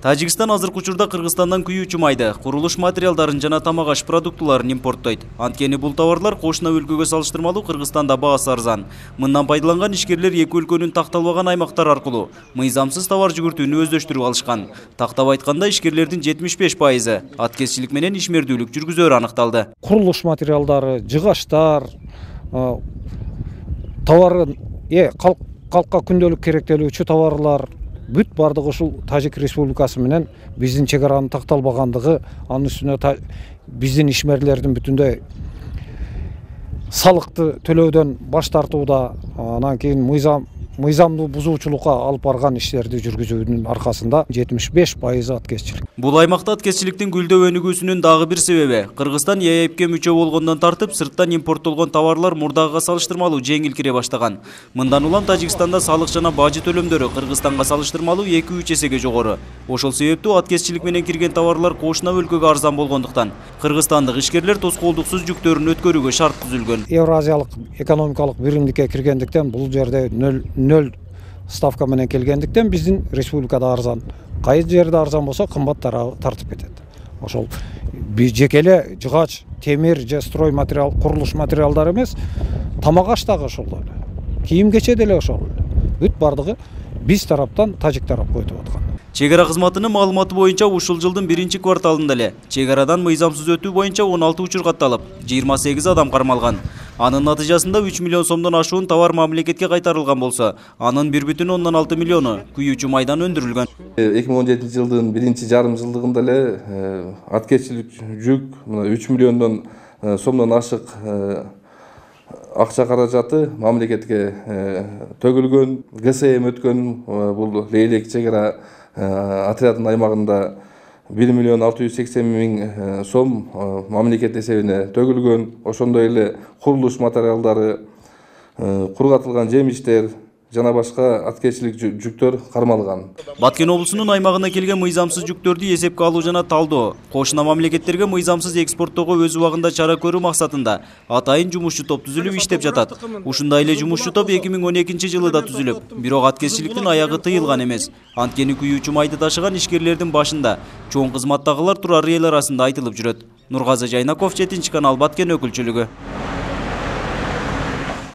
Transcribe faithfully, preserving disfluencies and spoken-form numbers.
Тажикстан азыркы учурда Кыргызстандан күйүүчү майды, курулуш материалдарын жана тамак аш продуктуларын импорттойт. Анткени бул товарлар кошуна өлкөгө салыштырмалуу Кыргызстанда баасы арзан. Мындан пайдаланган ишкерлер эки өлкөнүн такталбаган аймактар аркылуу мыйзамсыз товар жүгүртүүнү өздөштүрүп алышкан. Тактап айтканда, ишкерлердин жетимиш беш пайызы аткезчилик менен ишмердүүлүк жүргүзөрү аныкталды. Курулуш материалдары, жыгаштар, товары, э калкка күндөлүк керектелүүчү товарлар бүт бардыгы ушул Тажик Республикасы менен биздин чек аранын такталбагандыгы, анын үстүнө биздин ишмерлердин бүтүндөй салыкты төлөөдөн баш тартууда, анан кийин мыйзам мыйзамдуу бузуучулукка алып барган иштерди жүргүзүүнүн аркасында жетимиш беш пайызы аткезчилик. Бул аймакта аткезчиликтин гүлдөп өнүгүүсүнүн дагы бир себеби Кыргызстан Е Е П'ке мүчө болгондон тартып, сырттан импорттолгон товарлар мурдагыга салыштырмалуу жеңил кире баштаган. Мындан улам Тажикстанда салык жана бажы төлөмдөрү Кыргызстанга салыштырмалуу эки үч эсеге жогору. Ошол себептүү аткезчилик менен кирген товарлар кошуна өлкөгө арзан болгондуктан кыргызстандык ишкерлер тоскоолдуксуз жүктөрүн өткөрүүгө шарт түзүлгөн. Евразиялык экономикалык биримдикке киргендиктен бул жерде нөл ставка менен келгендиктен биздин республикада арзан. Кай жерде арзан болсо кымбат тартып кетет. Ошол жеке эле жыгач, темир же строй материал, курулуш материалдары эмес, тамак аш дагы ошол эле. Кийим кече деле ошол эле. Бүт бардыгы биз тараптан Тажик тарапка өтүп аткан. Чек ара кызматынын маалыматы боюнча ушул жылдын биринчи кварталында эле чек арадан мыйзамсыз өтүү боюнча он алты учур катталып, жыйырма сегиз адам кармалган. Анын натыйжасында үч миллион сомдон ашуун товар мамлекетке кайтарылган болсо, анын бир бүтүн ондон алты миллиону күйүүчү майдан өндүрүлгөн. эки миң он жетинчи жылдын биринчи жарым жылдыгында эле аткезчилик жүк үч миллиондон сомдон ашык акча каражаты мамлекетке төгүлгөн, Г С М өткөн. Бул Лейлек чек ара отрядынын аймагында бир миллион алты жүз сексен миң сом мамлекет эсебине төгүлгөн. Ошондой эле курулуш материалдары, кургатылган жемиштер жана башка аткезчилик жүктөр кармалган. Баткен облусунун аймагына келген мыйзамсыз жүктөрдү эсепке алуу жана талдоо, кошуна мамлекеттерге мыйзамсыз экспорттоого өз убагында чара көрүү максатында атайын жумушчу топ түзүлүп иштеп жатат. Ушундай эле жумушчу топ эки миң он экинчи жылы да түзүлүп, бирок аткезчиликтин аягы тыйылган эмес. Анткени күйүүчү майды ташыган ишкерлердин башында чоң кызматтагылар турары эл арасында айтылып жүрөт. Нургазы Жайнаков, жетинчи канал, Баткен өкүлчүлүгү.